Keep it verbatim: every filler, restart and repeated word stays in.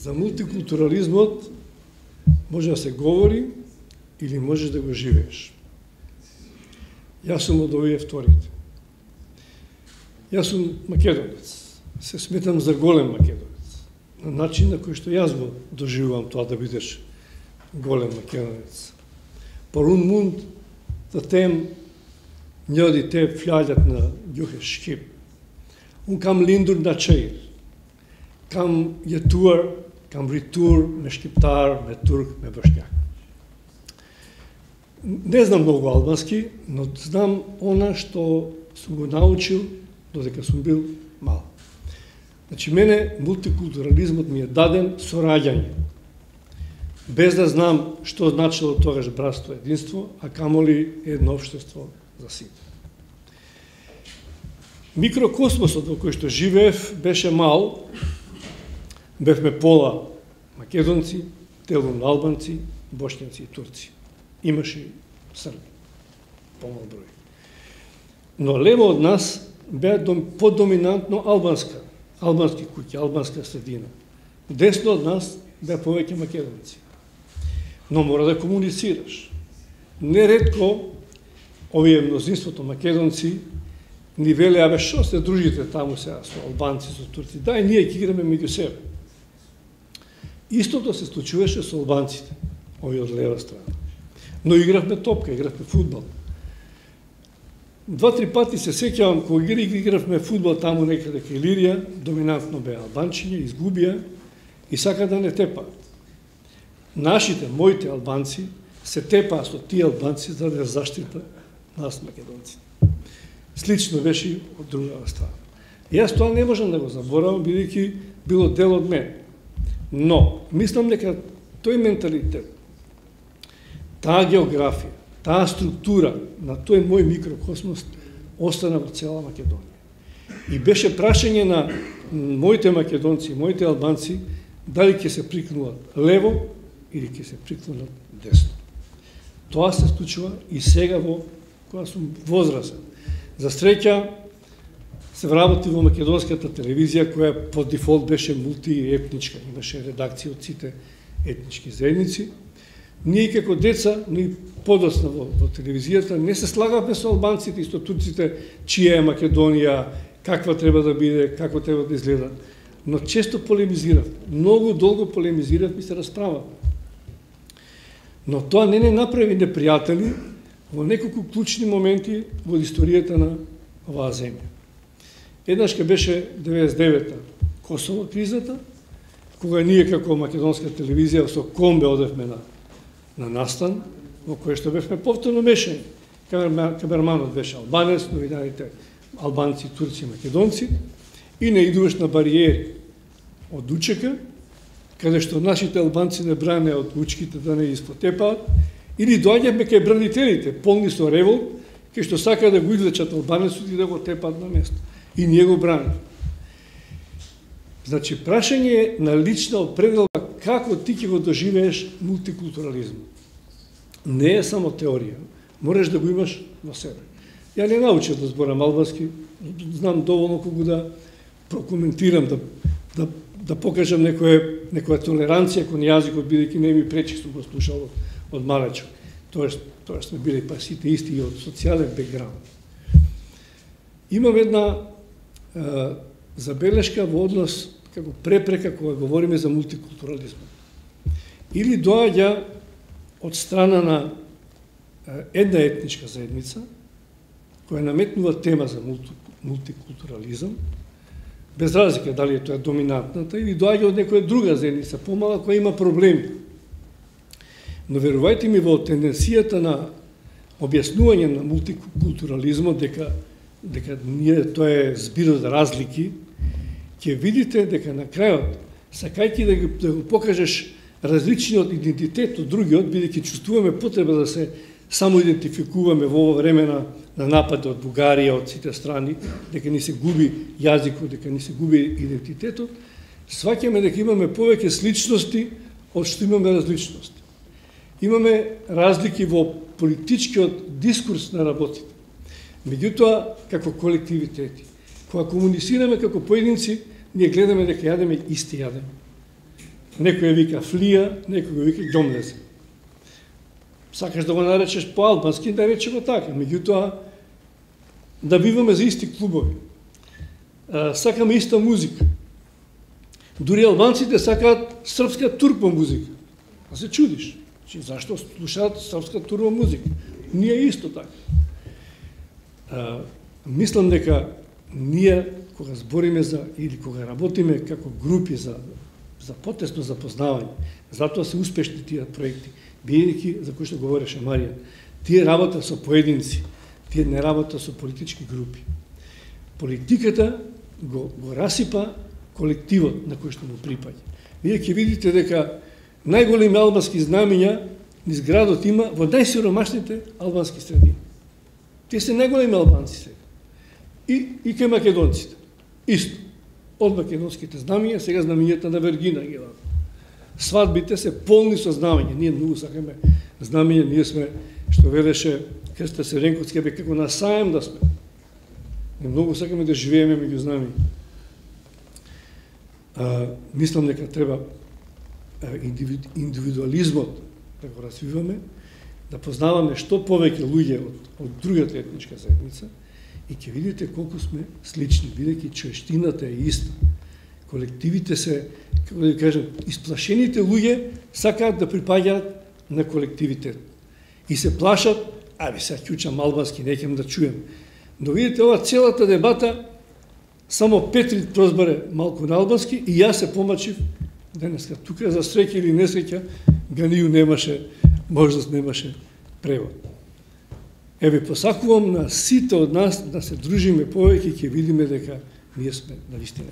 За мултикултурализмот може да се говори или можеш да го живееш. Јас сум од овие вторите. Јас сум македонец. Се сметам за голем македонец. На начин на кој што јас го доживувам тоа да бидеш голем македонец. Порун мунд да тем нјоди те фљаѓат на ѓухе шкип. Un kam lindur na qejr. Kam jetuar, kam rritur me shqiptar, me turk, me bosnjak. Не знам многу албански, но знам она што сум го научил додека сум бил мал. Значи, мене мултикултурализмот ми е даден со раѓање. Без да знам што значило тогаш братство, единство, а камоли едно општество за сите. Микрокосмосот во кој што живеев беше мал, бевме пола македонци, делум албанци, бошњаци и турци. Имаше и срби, помал број. Но лево од нас беа подоминантно албанска, албански куќи, албанска средина. Десно од нас беа повеќе македонци. Но мора да комуницираш. Неретко овие мнозинството македонци ни веле, абе, шо се дружите таму сега со албанци, со турци, дај ние ќе играме меѓу себе. Истото се случуваше со албанците, овие од лева страна. Но игравме топка, игравме фудбал. Два-три пати се сеќавам, кога игравме фудбал таму некаде кај Илирија, доминантно беа албанчиња, изгубија и сака да не тепаат. Нашите, моите албанци, се тепаа со тие албанци за да заштита нас македонците. Слично беше и од другава страна. Јас тоа не можам да го заборавам, бидејќи било дел од мене. Но, мислам дека тој менталитет, таа географија, таа структура на тој мој микрокосмос остана во цела Македонија. И беше прашање на моите македонци, моите албанци, дали ќе се прикнуват лево или ќе се прикнуват десно. Тоа се случува и сега во кога сум возрасен. За среќа се вработи во македонската телевизија, која по дефолт беше мултиетничка, имаше редакција од сите етнички заедници. Ние како деца, ние подосна во, во телевизијата, не се слагавме со албанците и со турците, чија е Македонија, каква треба да биде, како треба да изгледа. Но често полемизирав, многу долго полемизирав и се расправав. Но тоа не не направи непријатели во неколку клучни моменти во историјата на оваа земја. Еднаш ке беше деветдесет и девета Косово кризата, кога ние како македонска телевизија со комбе одевме на, на настан, во кој што бевме повторно мешани. Камерманот беше албанец, новинаните албанци, турци, македонци, и не идуваш на бариери од УЧК, каде што нашите албанци не бране од лучките да не испотепаат, или доаѓаме кај бранителите, полни со револт, кај што сака да го излечат албанецот и да го тепаат на место. И ние го браним. Значи, прашање на лична определба како ти ќе го доживееш мултикултурализмот. Не е само теорија, мораш да го имаш во себе. Ја не научив да зборам албански, знам доволно кога да прокоментирам, да, да, да покажам некоја, некоја толеранција кон јазикот, бидејќи не ми пречи, сум го слушал од, од малечок. Тоест, тоа сме били па сите исти и од социјален бекграунд. Имам една е, забелешка во однос како препрека кога говориме за мултикултурализмот. Или доаѓа од страна на една етничка заедница, која наметнува тема за мултикултурализам, без разлика дали е тоа доминантната, или доаѓа од некоја друга заедница, помала, која има проблеми. Но верувајте ми, во тенденцијата на објаснување на мултикултурализмот, дека, дека ние, тоа е збир од разлики, ќе видите дека на крајот, сакајќи да, да го покажеш различниот идентитет од другиот, бидејќи чувствуваме потреба да се само идентификуваме во ова време на, на напад од Бугарија, од сите страни, дека ни се губи јазикот, дека ни се губи идентитетот, сваќаме дека имаме повеќе сличности од што имаме различности. Имаме разлики во политичкиот дискурс на работите. Меѓутоа, како колективитети, кога комуницираме како поединци, ние гледаме дека јадеме исти јадеме. Некој вика флија, некој го вика ѓомлезе. Сакаш да го наречеш по-албански, да рече го така. Меѓутоа, да биваме за исти клубови. Сакаме иста музика. Дури албанците сакаат српска турбо музика. А се чудиш. Чи зашто слушаат српска турбо музика? Ние исто така. А, мислам дека ние кога збориме за или кога работиме како групи за за потесно запознавање, затоа се успешни тие проекти, бидејќи за кои што говореше Марија, тие работа со поединци, тие не работа со политички групи. Политиката го, го расипа колективот на кој што му припаѓа. Вие ќе видите дека најголеми албански знамења низ градот има во најсиромашните албански средини. Тие се најголеми албанци сега. И, и кај македонците. Исто. Од македонските знамења, сега знамењата на Вергина ги ваат. Свадбите се полни со знамења. Ние многу сакаме знамења, ние сме, што велеше Крста Серенковски, бе како на саем да сме. Ние многу сакаме да живееме меѓу знамења. А, мислам дека треба индивидуализмот да го развиваме, да познаваме што повеќе луѓе од, од другата етничка заедница и ќе видите колку сме слични, бидејќи човештината е иста. Колективите се, како да кажем, исплашените луѓе сакаат да припаѓаат на колективитет. И се плашат, аби сега ќучам албански, неќем да чуем. Но видите, ова целата дебата, само Петри прозбаре малку на албански и јас се помачив денеска. Тука за среќа или несреќа, Ганију немаше, можност немаше превод. Еве, посакувам на сите од нас да се дружиме повеќе и ќе видиме дека ние сме на вистина.